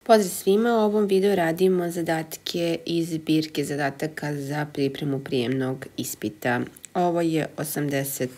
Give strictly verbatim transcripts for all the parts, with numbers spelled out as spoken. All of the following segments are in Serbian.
Pozdrav svima, u ovom videu radimo zadatke iz zbirke zadataka za pripremu prijemnog ispita. Ovo je osamdeset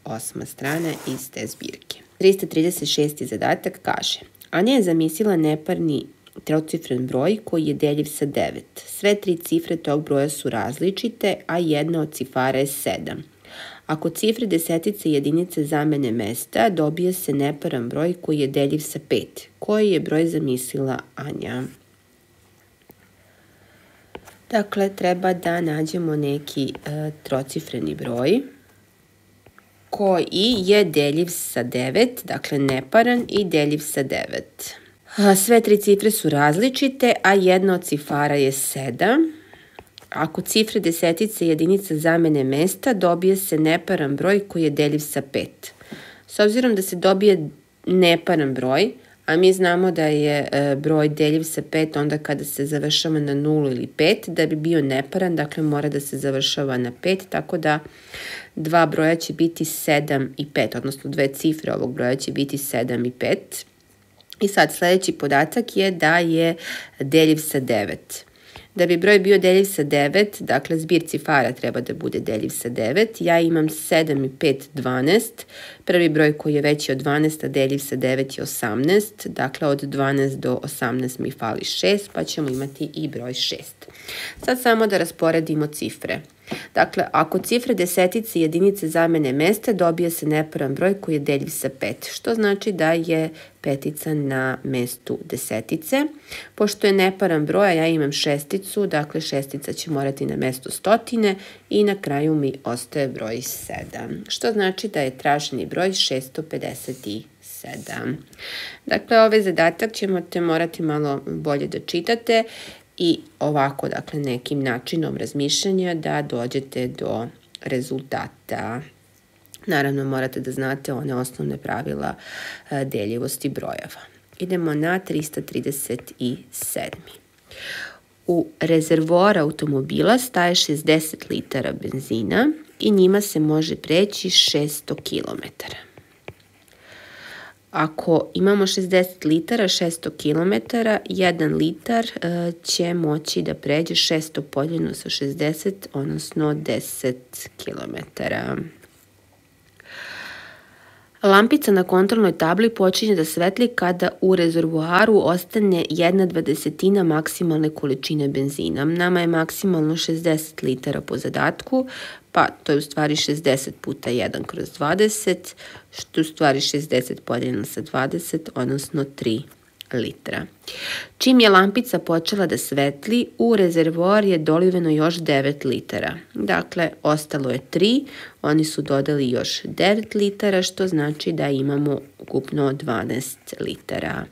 osma strana iz te zbirke. trista trideset šesti zadatak kaže: Anja je zamislila neparni trocifren broj koji je deljiv sa devet. Sve tri cifre tog broja su različite, a jedna od cifara je sedam. Ako cifre desetice i jedinice zamene mesta, dobije se neparan broj koji je deljiv sa pet. Koji je broj zamislila Anja? Dakle, treba da nađemo neki e, trocifreni broj koji je deljiv sa devet, dakle neparan i deljiv sa devet. Sve tri cifre su različite, a jedna od cifara je sedam. Ako cifre desetice i jedinica zamene mesta, dobije se neparan broj koji je deljiv sa pet. S obzirom da se dobije neparan broj, a mi znamo da je broj deljiv sa pet onda kada se završava na nulu ili pet, da bi bio neparan, dakle mora da se završava na pet, tako da dva broja će biti sedam i pet, odnosno dve cifre ovog broja će biti sedam i pet. I sad sledeći podatak je da je deljiv sa devet. Da bi broj bio deljiv sa devet, dakle zbir cifara treba da bude deljiv sa devet, ja imam sedam i pet, dvanaest, prvi broj koji je veći od dvanaest, a deljiv sa devet je osamnaest, dakle od dvanaest do osamnaest mi fali šest, pa ćemo imati i broj šest. Sad samo da rasporedimo cifre. Dakle, ako cifre desetice i jedinice zamene mesta, dobije se neparan broj koji je deljiv sa pet, što znači da je petica na mestu desetice. Pošto je neparan broj, a ja imam šesticu, dakle šestica će morati na mesto stotine i na kraju mi ostaje broj sedam, što znači da je traženi broj šesto pedeset sedam. Dakle, ovaj zadatak ćete morati malo bolje da čitate i ovako, dakle, nekim načinom razmišljanja da dođete do rezultata. Naravno, morate da znate one osnovne pravila deljivosti brojeva. Idemo na trista trideset sedmi. U rezervoar automobila staje šezdeset litara benzina i njima se može preći šesto kilometara. Ako imamo šezdeset litara, šesto kilometara, jedan litar će moći da pređe šesto podeljeno sa šezdeset, odnosno deset kilometara. Lampica na kontrolnoj tabli počinje da svetli kada u rezervoaru ostane jedna dvadesetina maksimalne količine benzina. Nama je maksimalno šezdeset litara po zadatku, pa to je u stvari šezdeset puta jedan kroz dvadeset, što je u stvari šezdeset podeljeno sa dvadeset, odnosno tri litra. Čim je lampica počela da svetli, u rezervoar je doliveno još devet litara. Dakle, ostalo je tri, oni su dodali još devet litara, što znači da imamo ukupno dvanaest litara.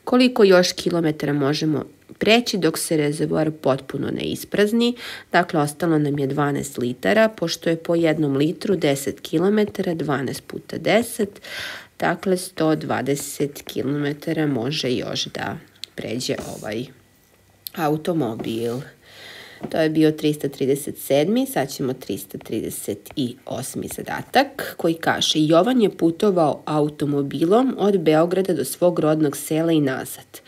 Koliko još kilometara možemo preći dok se rezervoar potpuno ne isprazni? Dakle, ostalo nam je dvanaest litara, pošto je po jednom litru deset kilometara, dvanaest puta deset, dakle sto dvadeset kilometara može još da pređe ovaj automobil. To je bio trista trideset sedmi, sad ćemo trista trideset osmi zadatak koji kaže: Jovan je putovao automobilom od Beograda do svog rodnog sela i nazad.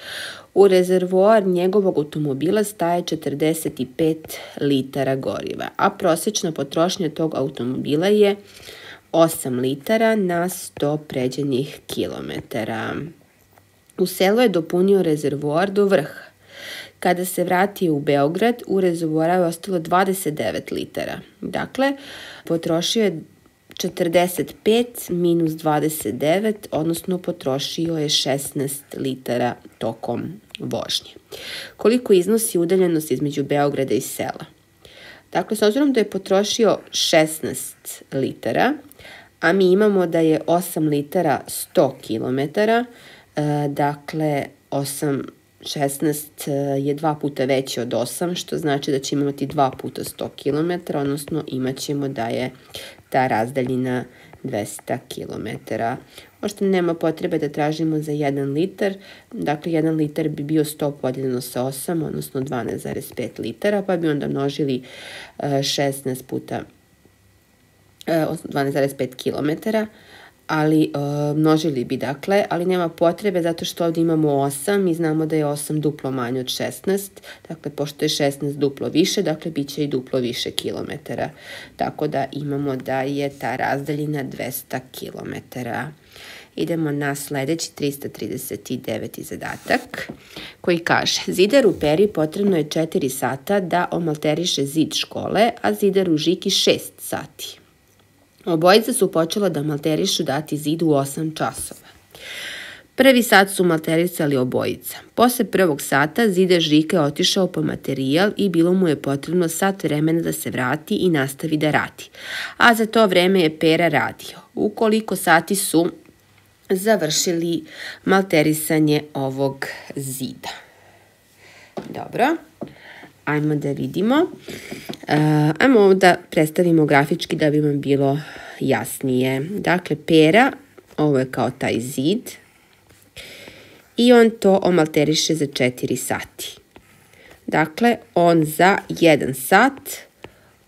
U rezervoar njegovog automobila staje četrdeset pet litara goriva, a prosečna potrošnja tog automobila je osam litara na sto pređenih kilometara. U selu je dopunio rezervoar do vrha. Kada se vratio u Beograd, u rezervoaru je ostalo dvadeset devet litara. Dakle, potrošio je četrdeset pet minus dvadeset devet, odnosno potrošio je šesnaest litara tokom vožnje. Koliko iznosi udaljenost između Beograda i sela? Dakle, s obzirom da je potrošio šesnaest litara, a mi imamo da je osam litara sto kilometara, dakle, osam, šesnaest je dva puta veće od osam, što znači da ćemo imati dva puta sto kilometara, odnosno imat ćemo da je ta razdaljina dvesta kilometara. Možda nema potrebe da tražimo za jedan litar, dakle jedan litar bi bio sto podeljeno sa osam, odnosno dvanaest zarez pet litara, pa bi onda množili šesnaest puta dvanaest zarez pet kilometara, ali uh, množili bi dakle, ali nema potrebe zato što ovdje imamo osam i znamo da je osam duplo manje od šesnaest, dakle pošto je šesnaest duplo više, dakle bit će i duplo više kilometara, tako da imamo da je ta razdaljina dvesta kilometara. Idemo na sledeći trista trideset deveti zadatak koji kaže: zidaru Peri potrebno je četiri sata da omalteriše zid škole, a zidaru Žiki šest sati. Obojica su počela da malterišu dati zid u osam časova. Prvi sat su malterisali obojica. Posle prvog sata zidar Žika je otišao po materijal i bilo mu je potrebno sat vremena da se vrati i nastavi da radi. A za to vreme je Pera radio. U koliko sati su završili malterisanje ovog zida? Dobro. Ajmo da vidimo. Uh, ajmo ovo da predstavimo grafički da bi vam bilo jasnije. Dakle, Pera, ovo je kao taj zid, i on to omalteriše za četiri sati. Dakle, on za jedan sat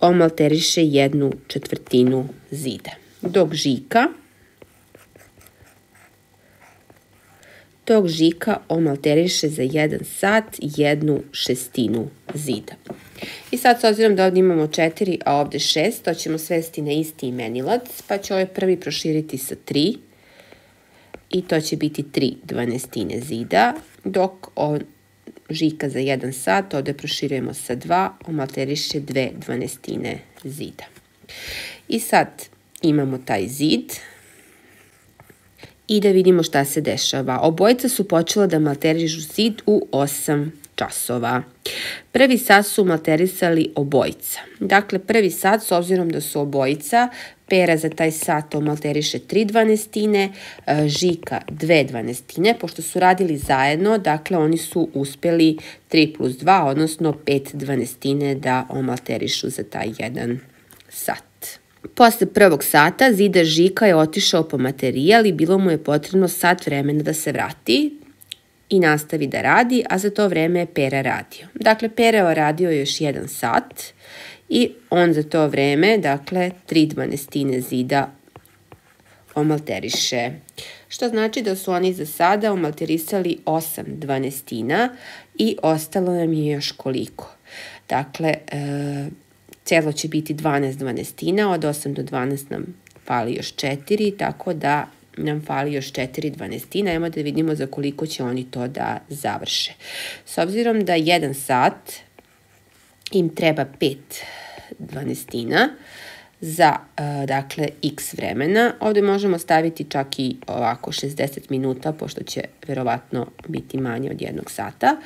omalteriše jednu četvrtinu zida. Dok Žika, dok Žika omalteriše za jedan sat jednu šestinu zida. I sad, s obzirom da ovdje imamo četiri, a ovdje šest, to ćemo svesti na isti imenilac, pa će ovaj prvi proširiti sa tri i to će biti tri dvanestine zida, dok on, Žika za jedan sat, ovdje proširujemo sa dva, omalteriše dve dvanestine zida. I sad imamo taj zid i da vidimo šta se dešava. Obojica su počela da malterišu zid u osam časova. Prvi sat su malterisali obojica. Dakle, prvi sat, s obzirom da su obojica, Pera za taj sat omalteriše tri dvanestine, Žika dve dvanestine, pošto su radili zajedno, dakle oni su uspeli tri plus dva, odnosno pet dvanestine da omalterišu za taj jedan sat. Posle prvog sata zidar Žika je otišao po materijal i bilo mu je potrebno sat vremena da se vrati i nastavi da radi, a za to vreme je Pera radio. Dakle, Pera je radio još jedan sat i on za to vreme, dakle, tri dvanestine zida omalteriše. Što znači da su oni za sada omalterisali osam dvanestina i ostalo nam je još koliko. Dakle, e, celo će biti dvanaest dvanestina, od osam do dvanaest nam fali još četiri, tako da nam fali još četiri dvanestina. Ajmo da vidimo za koliko će oni to da završe. S obzirom da jedan sat im treba pet dvanestina za, dakle, x vremena. Ovdje možemo staviti čak i ovako šezdeset minuta, pošto će verovatno biti manje od jednog sata.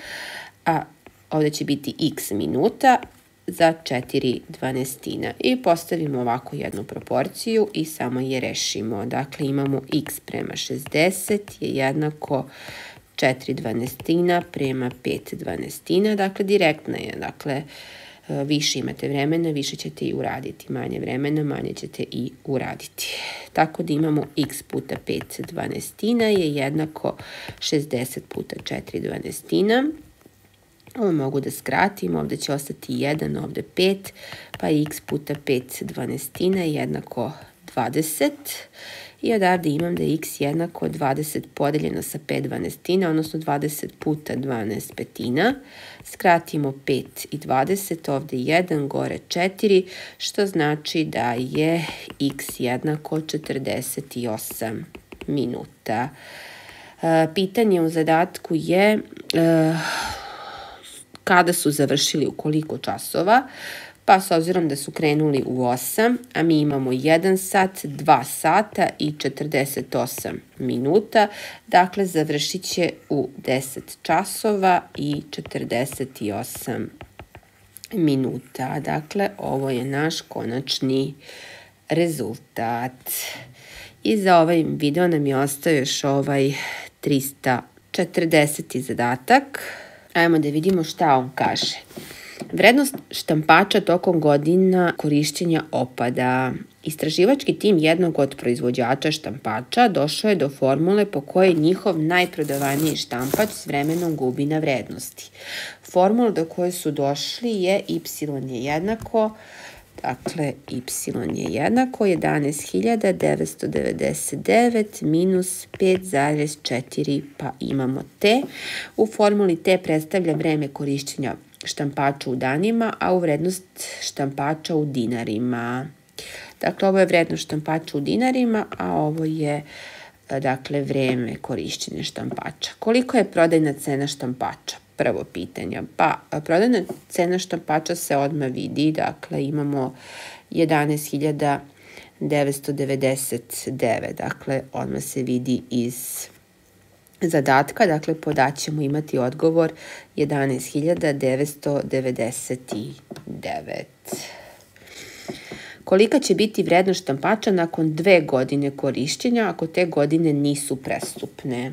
A ovdje će biti x minuta za četiri dvanestina. I postavimo ovako jednu proporciju i samo je rešimo. Dakle, imamo x prema šezdeset je jednako četiri dvanestina prema pet dvanestina. Dakle, direktna je. Dakle, više imate vremena, više ćete i uraditi. Manje vremena, manje ćete i uraditi. Tako da imamo x puta pet dvanestina je jednako šezdeset puta četiri dvanestina. Ovo mogu da skratim, ovdje će ostati jedan, ovdje pet, pa x puta pet dvanestina je jednako dvadeset. I odavde imam da je x jednako dvadeset podeljeno sa pet dvanestina, odnosno dvadeset puta dvanaest petina. Skratimo pet i dvadeset, ovdje jedan, gore četiri, što znači da je x jednako četrdeset osam minuta. Pitanje u zadatku je kada su završili u koliko časova, pa s obzirom da su krenuli u osam, a mi imamo jedan sat, dva sata i četrdeset osam minuta, dakle završit će u deset časova i četrdeset osam minuta. Dakle, ovo je naš konačni rezultat. I za ovaj video nam je ostao još ovaj trista četrdeseti zadatak. Ajmo da vidimo šta on kaže. Vrednost štampača tokom godina korišćenja opada. Istraživački tim jednog od proizvođača štampača došao je do formule po kojoj njihov najprodavaniji štampač s vremenom gubi na vrednosti. Formula do koje su došli je y je jednako Dakle, y je jednako jedanaest hiljada devetsto devedeset devet minus pet zarez četiri, pa imamo t. U formuli t predstavlja vreme korišćenja štampača u danima, a u vrednost štampača u dinarima. Dakle, ovo je vrednost štampača u dinarima, a ovo je, dakle, vreme korišćenja štampača. Koliko je prodajna cena štampača? Prvo pitanje. Pa, prodajna cena štampača se odmah vidi, dakle, imamo jedanaest hiljada devetsto devedeset devet, dakle, odmah se vidi iz zadatka, dakle, podaćemo imati odgovor jedanaest hiljada devetsto devedeset devet. Kolika će biti vrednost štampača nakon dve godine korišćenja ako te godine nisu prestupne?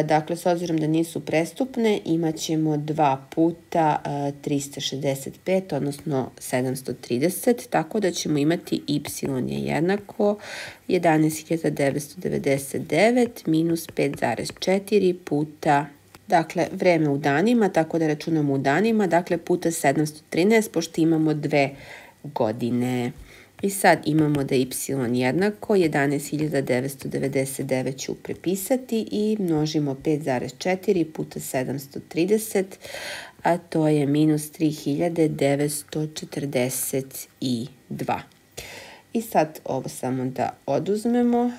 Dakle, s obzirom da nisu prestupne, imat ćemo dva puta trista šezdeset pet, odnosno sedamsto trideset, tako da ćemo imati y je jednako jedanaest hiljada devetsto devedeset devet minus pet zarez četiri puta, dakle, vreme u danima, tako da računamo u danima, dakle, puta sedamsto trinaest, pošto imamo dve godine. I sad imamo da y jednako jedanaest hiljada devetsto devedeset devet ću prepisati i množimo pet zarez četiri puta sedamsto trideset, a to je minus tri hiljade devetsto četrdeset dva. I sad ovo samo da oduzmemo.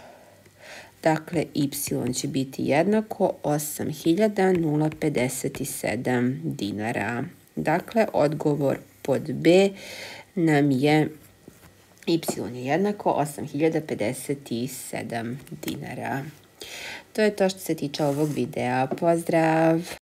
Dakle, y će biti jednako osam hiljada pedeset sedam dinara. Dakle, odgovor pod B nam je y je jednako osam hiljada pedeset sedam dinara. To je to što se tiče ovog videa. Pozdrav!